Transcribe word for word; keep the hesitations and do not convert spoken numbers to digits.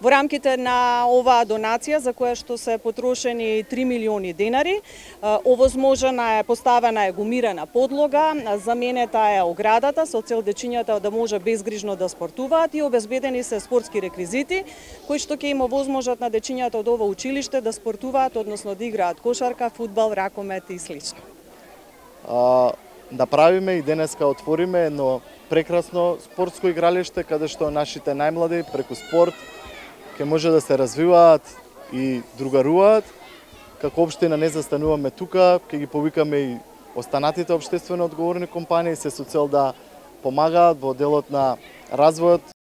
Во рамките на оваа донација, за која што се потрошени три милиони денари, овозможена е, поставена е гумирана подлога, заменета е оградата со цел дечињата да може безгрижно да спортуваат и обезбедени се спортски реквизити кои што ќе им овозможат на дечињата од ова училиште да спортуваат, односно да играат кошарка, фудбал, ракомет и слично. А, направиме и денеска отвориме едно прекрасно спортско игралиште каде што нашите најмлади преку спорт ќе може да се развиваат и другаруваат. Како општина не застануваме тука, ќе ги повикаме и останатите општествено одговорни компании се со цел да помагаат во делот на развојот